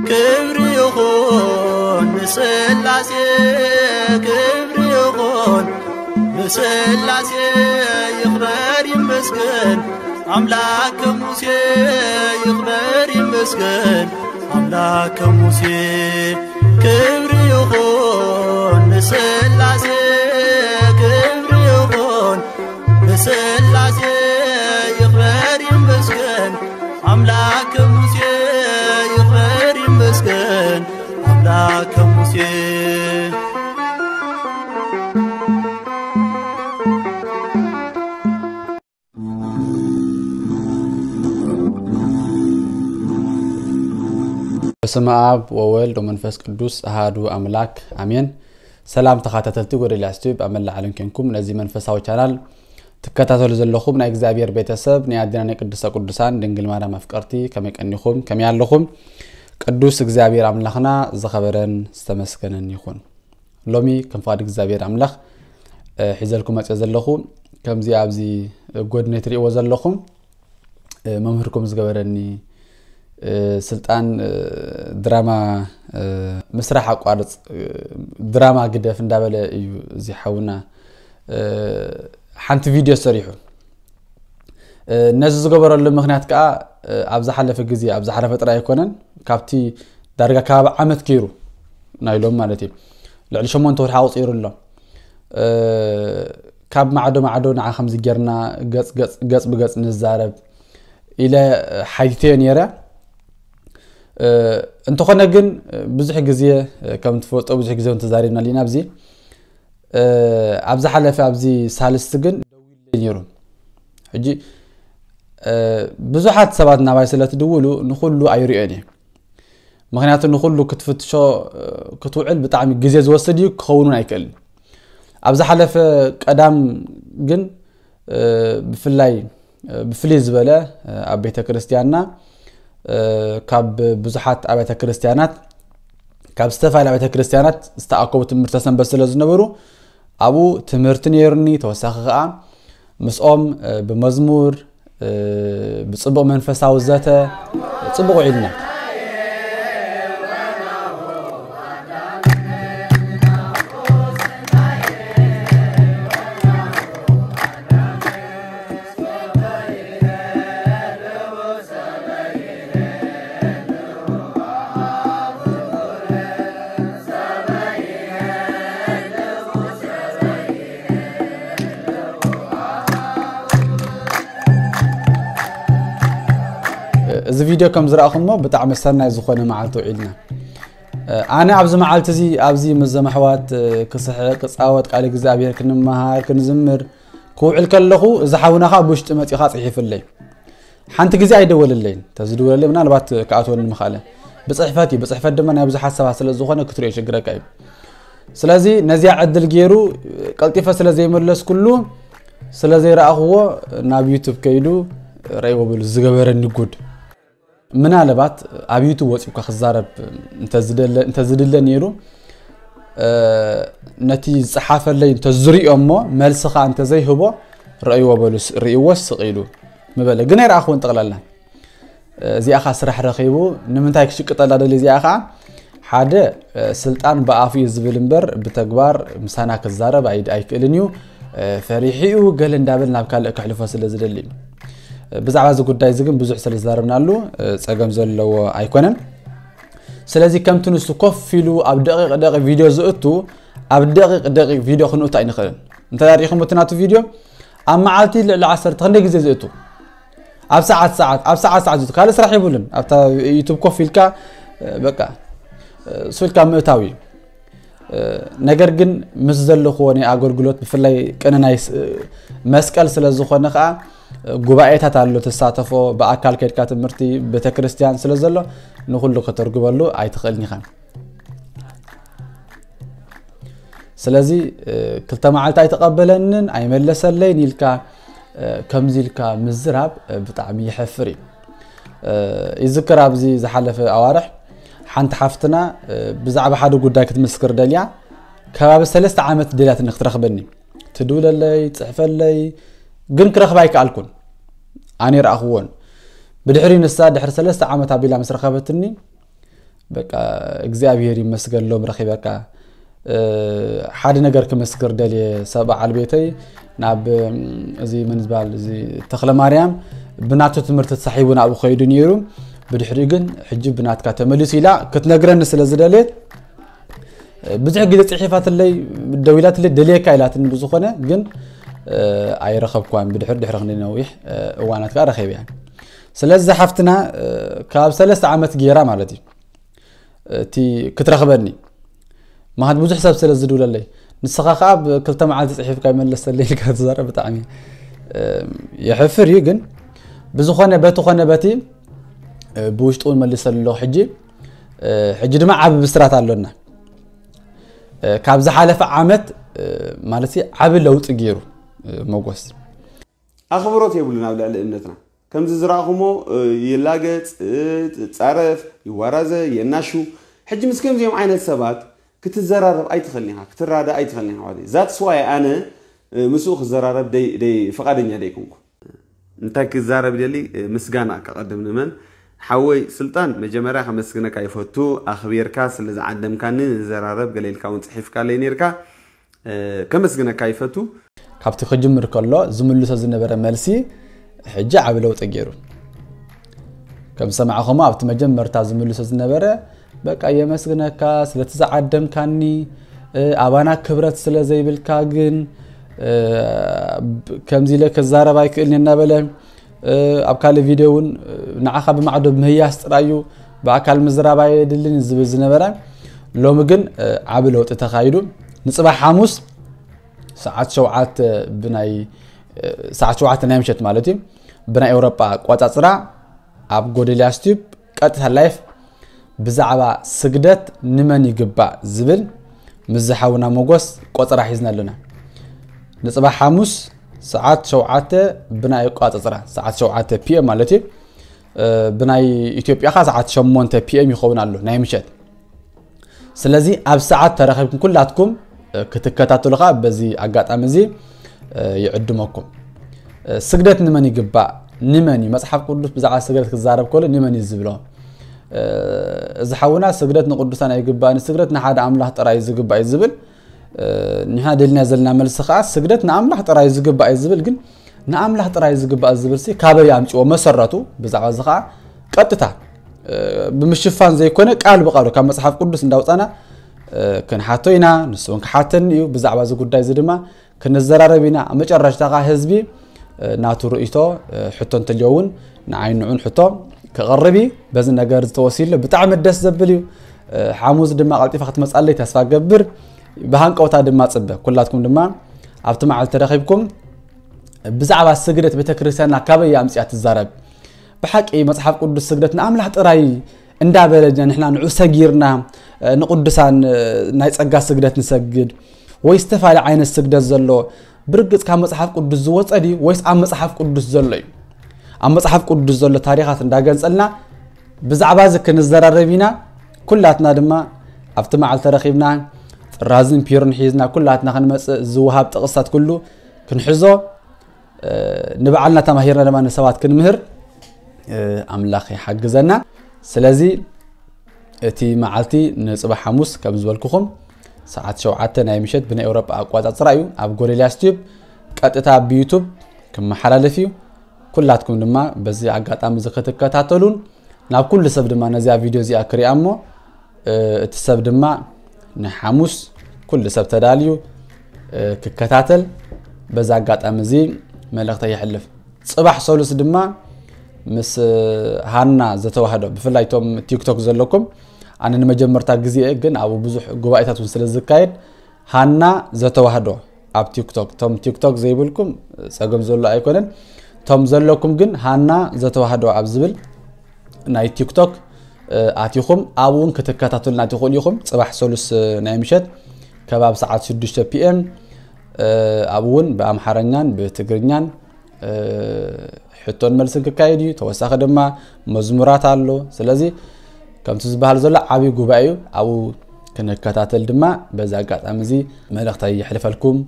ክብሪ ይኹን ንስላሴ፣ ክብሪ ይኹን ንስላሴ፣ ይኽበር ይመስገን ኣምላክ ከሙሴ፣ ይኽበር ይመስገን ኣምላክ ከሙሴ። ክብሪ ይኹን ንስላሴ፣ ክብሪ ይኹን ንስላሴ፣ ይኽበር ይመስገን ኣምላክ ከሙሴ፣ ይኽበር ይመስገን ኣምላክ ከሙሴ። በስመ አብ ወወልድ ወመንፈስ ቅዱስ አሃዱ አምላክ አሜን። ሰላም ተኻታተልቲ ጎደልያስ ቲዩብ ኣብ መላእ ዓለም ኮንኩም ነዚ መንፈሳዊ ቻናል ትከታተሉ ዘለኹም ናይ እግዚኣብሔር ቤተሰብ፣ ናይ ኣዴና ናይ ቅድስተ ቅዱሳን ድንግል ማርያም ኣፍቀርቲ፣ ከመይ ቀኒኹም? ከመይ ኣለኹም? ቅዱስ እግዚኣብሔር ኣምላኽና ዝኸበረን ዝተመስገነን ይኹን። ሎሚ ከም ፍቓድ እግዚኣብሔር ኣምላኽ፣ እ፣ ሒዘልኩም መጽየ ዘለኹ፣ ከምዚ ኣብዚ ጎድነይ ትርእይዎ ዘለኹም፣ እ፣ መምህርኩም ዝገበረኒ፣ እ፣ ስልጣን፣ እ፣ ድራማ፣ እ፣ ምስራሕ ኣቋርጽ፣ እ፣ ድራማ ግደፍ እንዳበለ እዩ እዚ ሓውና፣ እ፣ ሓንቲ ቪድዮ ሰሪሑ። እ፣ ነዚ ዝገበረሉ ምኽንያት ከኣ፣ እ፣ ኣብ ዝሓለፈ ግዜ፣ ኣብ ዝሓለፈ ጥራይ ኣይኮነን፣ ካብቲ ዳርጋ ከባቢ ዓመት ገይሩ፣ ናይ ሎም ማለት እዩ፣ ልዕሊ ሸሞንተ ወርሒ ኣቑጺሩ ኣሎ። እ፣ ካብ ማዕዶ ማዕዶ ንዓ ከምዚ ጌርና ገጽ፣ ገጽ፣ ገጽ ብገጽ ንዛረብ ኢለ ሓቲተዮ ነይረ። እ፣ እንተኾነ ግን፣ እ፣ ብዙሕ ግዜ፣ እ፣ ከም ትፈልጦ ብዙሕ ግዜ እውን ተዛሪብናሉ ኢና ኣብዚ። እ፣ ኣብ ዝሓለፈ ኣብዚ ሳልስቲ ግን ደዊሉለይ ነይሩ። ሕጂ፣ እ፣ ብዙሓት ሰባት ናባይ ስለ ትድውሉ ንኹሉ ኣይርእዮን እየ። ምኽንያቱ ንኹሉ ክትፍትሾ፣ እ፣ ክትውዕል ብጣዕሚ ግዜ ዝወስድ እዩ፣ ክኸውን እውን ኣይክእልን። ኣብ ዝሓለፈ ቀዳም ግን፣ እ፣ ብፍላይ፣ እ፣ ብፍልይ ዝበለ፣ እ፣ ኣብ ቤተ ክርስቲያንና፣ እ፣ ካብ ብዙሓት ኣብያተ ክርስቲያናት፣ ካብ ዝተፈላለዩ ኣብያተ ክርስቲያናት ዝተኣከቡ ትምህርተ ሰንበት ስለ ዝነበሩ፣ ኣብኡ ትምህርቲ ነይሩኒ። ተወሳኺ ከኣ ምስኦም፣ እ፣ ብመዝሙር፣ እ፣ ብጽቡቕ መንፈሳዊ ዘተ ጽቡቕ ውዒልና። እዚ ቪድዮ ከም ዝረኣኹሞ ብጣዕሚ ሰናይ ዝኾነ መዓልቲ ውዒልና። ኣነ ኣብዚ መዓልቲ እዚ ኣብዚ ምስ ዘመሕዋት ክስሕቕ፣ ክጻወት፣ ቃል እግዚኣብሔር ክንመሃር፣ ክንዝምር ክውዕል ከለኹ፣ እዚ ሓውና ኸኣ ብውሽጢ መጺኡ ኸኣ ጽሒፉለይ። ሓንቲ ግዜ ኣይደወለለይን። ተዝድወለለይ ምናልባት ክኣትወኒ ምኽኣለ። ብጽሕፈት እዩ። ብጽሕፈት ድማ ናይ ብዙሓት ሰባት ስለ ዝኾነ ክትሪኦ ይሽግረካ እዩ። ስለዚ ነዚኣ ዕድል ገይሩ ቀልጢፈ ስለ ዘይመለስኩሉ፣ ስለ ዘይረኣኽዎ ናብ ዩቱብ ከይዱ ረእይዎ በሉ ዝገበረኒ ጉድ። ምናልባት ኣብ ዩቱብ ወጺኡ እኳ ክዛረብ እንተዝደለ-፣ እንተዝድለ ነይሩ፣ እ፣ ነቲ ዝጸሓፈለይ እንተዝሪኦ እሞ መልሲ ኸኣ እንተዘይህቦ ረእይዎ በሉ ስ-፣ ርእይዎ ስቕ ኢሉ ምበለ። ግን ኣይረኣኽዎን ጠቕላላ። እዚኣ ኸኣ ስራሕ ረኺቡ ንምንታይ ክሽቅጠላ ደልዩ? እዚኣ ኸኣ ሓደ፣ እ፣ ስልጣን ብኣፉ እዩ ዝብል እምበር ብተግባር ምሳና ክዛረብ ኣይ-፣ ኣይክእልን እዩ። እ፣ ፈሪሑ እዩ ገለ እንዳበል ናብ ካልእ ከሕልፎ ስለ ዝደሊ እዩ። እ፣ ብዛዕባ እዚ ጉዳይ እዚ ግን ብዙሕ ስለ ዝዛረብናሉ፣ እ፣ ጸገም ዘለዎ ኣይኮነን። ስለዚ ከምቲ ንሱ ኮፍ ኢሉ ኣብ ደቂቕ ደቂቕ ቪድዮ ዝእቱ፣ ኣብ ደቂቕ ደቂቕ ቪድዮ ክንእቱ ኣይንኽእልን። እንተ ሪኢኹም እቲ ናቱ ቪድዮ ኣብ መዓልቲ ልዕሊ ዓሰርተ ክንደይ ግዜ ዝእቱ? ኣብ ሰዓት ሰዓት፣ ኣብ ሰዓት ሰዓት ዝእቱ። ካልእ ስራሕ የብሉን። ኣብታ ዩቱብ ኮፍ ኢልካ፣ እ፣ በቃ፣ እ፣ ሱልካ ምእታው እዩ። እ፣ ነገር ግን ምስ ዘለኽዎ ናይ ኣገልግሎት ብፍላይ ቅነ ናይ ስ-፣ መስቀል ስለ ዝኾነ ኸኣ፣ እ፣ ጉባኤታት ኣሎ ትሳተፎ፣ ብኣካል ከድካ ትምህርቲ ቤተክርስትያን ስለ ዘሎ ንኹሉ ከተርጉመሉ ኣይትኽእልን ኢኻ። ስለዚ፣ እ፣ ክልተ መዓልቲ ኣይተቐበለንን፣ ኣይመለሰለይን ኢልካ፣ እ፣ ከምዚ ኢልካ ምዝራብ፣ እ፣ ብጣዕሚ የሕፍር እዩ። እ፣ ይዝክር ኣብዚ ዝሓለፈ ኣዋርሕ ሓንቲ ሓፍትና፣ እ፣ ብዛዕባ ሓደ ጉዳይ ክትምስክር ደልያ፣ ከባቢ ሰለስተ ዓመት ደልያትኒ ክትረኽበኒ። ትድውለለይ፣ ትጽሕፈለይ፣ ግን ክረኽባ ኣይከኣልኩን። ኣነ ይረኣኽዎን። ብድሕሪ ንሳ ድሕሪ ሰለስተ ዓመት ኣቢላ ምስ ረኸበትኒ፣ በቃ እግዚኣብሔር ይመስገን ሎም ረኺበካ። ሓደ ነገር ክምስክር ደልየ፣ ሰብ በዓል ቤተይ ናብ እዚ ምን ዝበሃል እዚ ተኽለ ማርያም ብናቱ ትምህርቲ ተሳሒቡ ናብኡ ከይዱ ነይሩ። ብድሕሪኡ ግን ሕጂ ብናትካ ተመሊሱ ኢላ ክትነግረኒ ስለ ዝደልየት ብዙሕ ግዜ ጽሒፋትለይ፣ ደዊላትለይ ደልየካ ኢላትኒ። ብዝኾነ ግን ኣይረኸብኳን። ብድሕር ድሕሪ ክንዲ ነዊሕ እዋናት ከዓ ረኺበያ። ስለዚ ሓፍትና ካብ ሰለስተ ዓመት ገይራ ማለት እዩ እቲ ክትረኽበኒ። ማለት ብዙሕ ሰብ ስለ ዝድውለለይ፣ ንስኻ ከዓ ብክልተ መዓልቲ ጽሒፍካ ይመለሰለይ ኢልካ ትዛረብ። ብጣዕሚ የሕፍር እዩ። ግን ብዝኾነ በቲ ኾነ በቲ ብውሽጡ እውን መሊሰሉ ኣለኹ። ሕጂ ሕጂ ድማ ዓቢ ብስራት ኣሎና። ካብ ዝሓለፈ ዓመት ማለት ዓቢ ለውጢ ገይሩ ሞጎስ። ኣኽብሮት የብሉን ኣብ ልዕሊ እምነትና። ከምዚ ዝረኣኹሞ ይላገጽ፣ ይጻረፍ፣ ይዋራዘ፣ የናሹ። ሕጂ ምስ ከምዚኦም ዓይነት ሰባት ክትዘራረብ ኣይትኽእልን ኢኻ፣ ክትራዳእ ኣይትኽእልን ኢኻ። That's why ኣነ ምስኡ ክዘራረብ ደይ ደይ ፍቓደኛ ደይኮንኩ። እንታይ ክዛረብ ደሊ? ምስጋና ከቐድም። ንመን ሓወይ ስልጣን፣ መጀመርያ ከመስግነካ ይፈቱ። ኣኽቢርካ ስለ ዝዓደምካኒ፣ ንዘራረብ ገለ ኢልካ እውን ጽሒፍካለይ ነይርካ። ከመስግነካ ይፈቱ። ካብቲ ክጅምር ከሎ ዝምልሶ ዝነበረ መልሲ ሕጂ ዓቢ ለውጢ ገይሩ። ከም ዝሰማዕኹሞ ኣብቲ መጀመርታ ዝምልሶ ዝነበረ በቃ የመስግነካ ስለቲ ዝዓደምካኒ፣ ኣባና ክብረት ስለ ዘይብልካ ግን ከምዚ ኢለ ክዛረብ ኣይክእልን እናበለ ኣብ ካልእ ቪድዮ እውን ንዓኻ ብማዕዶ ምህያስ ጥራይ እዩ፣ ብኣካል ምዝራብ ኣየድልን ዝብል ዝነበረ፣ ሎሚ ግን ዓቢ ለውጢ ተኻይዱ። ንጽባሕ ሓሙስ ሰዓት ሸውዓተ ብናይ ሰዓት ሸውዓተ ናይ ምሸት ማለት እዩ፣ ብናይ ኤውሮጳ ኣቋጻጽራ ኣብ ጎደልያስ ቲዩብ ቀጥታ ላይፍ ብዛዕባ ስግደት ንመን ይግባእ ዝብል ምስ ዝሓውና ሞጎስ ቆጸራ ሒዝና ኣለና። ንጽባሕ ሓሙስ ሰዓት ሸውዓተ ብናይ ኣቋጻጽራ፣ ሰዓት ሸውዓተ ፒኤም ማለት እዩ። ብናይ ኢትዮጵያ ኸኣ ሰዓት ሸሞንተ ፒኤም ይኸውን ኣሎ ናይ ምሸት። ስለዚ ኣብ ሰዓት ተረኺብኩም ኩላትኩም ክትከታተሉ ኸኣ በዚ ኣጋጣሚ እዚ ይዕድመኩም። ስግደት ንመን ይግባእ? ንመን እዩ? መጽሓፍ ቅዱስ ብዛዕባ ስግደት ክዛረብ ከሎ ንመን እዩ ዝብሎ? እዚ ሓውና ስግደት ንቅዱሳን ኣይግባእን፣ ስግደት ንሓደ ኣምላኽ ጥራይ እዩ ዝግባእ እዩ ዝብል። ንሕና ደልና ዘለና መልሲ ኸዓ ስግደት ንኣምላኽ ጥራይ እዩ ዝግባእ እዩ ዝብል። ግን ንኣምላኽ ጥራይ እዩ ዝግባእ ዝብል ሲ ካበይ ኣምፅዎ መሰረቱ? ብዛዕባ እዚ ኸዓ ቀጥታ ብምሽፋን ዘይኮነ ቃል ብቃሉ ካብ መፅሓፍ ቅዱስ እንዳውፃና ክንሓቶ ኢና። ንሱ እውን ክሓተኒ እዩ ብዛዕባ እዚ ጉዳይ እዚ ድማ ክንዘራረብ ኢና። ኣብ መጨረሽታ ከዓ ህዝቢ ናቱ ርእይቶ ሕቶ እንተልዮ እውን ንዓይ ንዑን ሕቶ ክቕርብ እዩ። በዚ ነገር ዝተወሲሉ ብጣዕሚ ደስ ዘብል እዩ። ሓሙስ ድማ ቀልጢፋ ክትመፃለይ ተስፋ ገብር፣ ብሃንቀውታ ድማ ፅበ። ኩላትኩም ድማ ኣብቲ መዓልቲ ተረኺብኩም ብዛዕባ ስግደት ቤተክርስትያንና ካበይ ኣምፅያ ትዛረብ? ብሓቂ መፅሓፍ ቅዱስ ስግደት ንኣምላኽ ጥራይ እንዳበለና ንሕና ንዑ ሰጊርና ንቅዱሳን ናይ ፀጋ ስግደት ንሰግድ ወይ ዝተፋለ ዓይነት ስግደት ዘሎ ብርግፅ ካብ መፅሓፍ ቅዱስ ዝወፀ ድዩ ወይስ ኣብ መፅሓፍ ቅዱስ ዘሎ እዩ? ኣብ መፅሓፍ ቅዱስ ዘሎ ታሪኻት እንዳገንፀልና ብዛዕባ እዚ ክንዘራረብ ኢና። ኩላትና ድማ ኣብቲ መዓልቲ ተረኺብና ጥራዝን ፒርን ሒዝና ኩላትና ክንመፅእ ዝወሃብ ጥቕስታት ኩሉ ክንሕዞ ንባዕልና ተማሂርና ድማ ንሰባት ክንምህር ኣምላኽ ይሓግዘና። ስለዚ እቲ መዓልቲ ንፅባሕ ሓሙስ ከም ዝበልኩኹም ሰዓት ሸውዓተ ናይ ምሸት ብናይ ኤውሮጳ ኣቋፃፅራ እዩ። ኣብ ጎደልያስ ቲዩብ ቀጥታ ብዩቱብ ክመሓላለፍ እዩ። ኩላትኩም ድማ በዚ ኣጋጣሚ እዚ ክትከታተሉን ናብ ኩሉ ሰብ ድማ ነዚኣ ቪድዮ እዚኣ ክሪኣ እሞ እቲ ሰብ ድማ ንሓሙስ ኩሉ ሰብ ተዳልዩ ክከታተል በዚ ኣጋጣሚ እዚ መልእኽተይ የሕልፍ። ፅባሕ ሰሉስ ድማ ምስ ሃና ዘተዋህዶ ብፍላይ እቶም ቲክቶክ ዘለኩም ኣነ ንመጀመርታ ግዜ ግን ኣብኡ ብዙሕ ጉባኤታት እውን ስለ ዝካየድ ሃና ዘተዋህዶ ኣብ ቲክቶክ፣ ቶም ቲክቶክ ዘይብልኩም ጸገም ዘሎ ኣይኮነን። ቶም ዘለኩም ግን ሃና ዘተዋህዶ ኣብ ዝብል ናይ ቲክቶክ ኣቲኹም ኣብኡ እውን ክትከታተሉና ትኽእሉ ኢኹም። ጽባሕ ሰሉስ ናይ ምሸት ከባቢ ሰዓት ሽዱሽተ ፒኤም ኣብኡ እውን ብኣምሓርኛን ብትግርኛን ሕቶን መልስን ክካየድ እዩ። ተወሳኺ ድማ መዝሙራት ኣሎ። ስለዚ ከምቲ ዝበሃል ዘሎ ዓብዪ ጉባኤ እዩ። ኣብኡ ክንከታተል ድማ በዚ ኣጋጣሚ እዚ መልእኽተይ የሕልፈልኩም።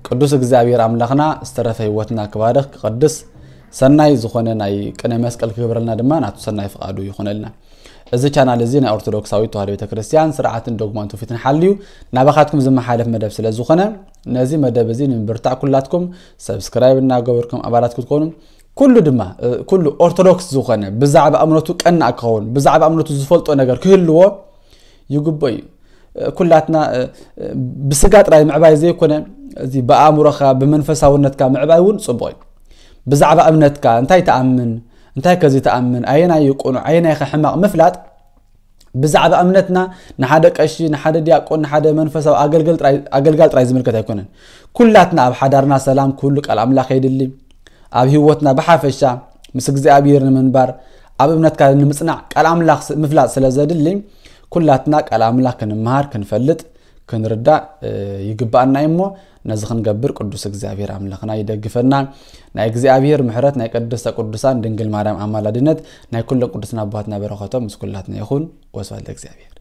ቅዱስ እግዚኣብሔር ኣምላኽና ዝተረፈ ህይወትና ክባርኽ ክቐድስ ሰናይ ዝኾነ ናይ ቅነ መስቀል ክገብረልና ድማ ናቱ ሰናይ ፍቓዱ ይኹነልና። እዚ ቻናል እዚ ናይ ኦርቶዶክሳዊት ተዋህዶ ቤተክርስትያን ስርዓትን ዶግማን ትውፊትን ሓልዩ ናባኻትኩም ዝመሓለፍ መደብ ስለ ዝኾነ፣ ነዚ መደብ እዚ ንምብርታዕ ኩላትኩም ሰብስክራይብ እናገበርኩም ኣባላት ክትኮኑ፣ ኩሉ ድማ ኩሉ ኦርቶዶክስ ዝኾነ ብዛዕባ እምነቱ ቀናእ ክኸውን፣ ብዛዕባ እምነቱ ዝፈልጦ ነገር ክህልዎ ይግበ እዩ። ኩላትና ብስጋ ጥራይ ምዕባይ ዘይኮነ፣ እዚ ብኣእምሮኻ ብመንፈሳውነትካ ምዕባይ እውን ጽቡቕ እዩ። ብዛዕባ እምነትካ እንታይ ትኣምን፣ እንታይ ከዚ ትኣምን፣ ኣየናይ እዩ ቅኑዕ ኣየናይ ከ ሕማቕ ምፍላጥ፣ ብዛዕባ እምነትና ንሓደ ቀሺ ንሓደ ዲያቆን ንሓደ መንፈሳዊ ኣገልጋል ጥራይ ዝምልከት ኣይኮነን። ኩላትና ኣብ ሓዳርና ሰላም ክህሉ ቃል ኣምላኽ የድሊ። ኣብ ህይወትና ብሓፈሻ ምስ እግዚኣብሔር ንምንባር ኣብ እምነትካ ንምጽናዕ ቃል ኣምላኽ ምፍላጥ ስለ ዘድሊ፣ ኩላትና ቃል ኣምላኽ ክንምሃር ክንፈልጥ ክንርዳእ ይግባኣና እዩ። እሞ ነዚ ክንገብር ቅዱስ እግዚኣብሔር ኣምላኽና ይደግፈና። ናይ እግዚኣብሔር ምሕረት ናይ ቅድስተ ቅዱሳን ድንግል ማርያም ኣማላድነት ናይ ኩሎም ቅዱሳን ኣቦሃትና በረኸቶም ምስ ኩላትና ይኹን። ወስብሐት ለእግዚኣብሔር።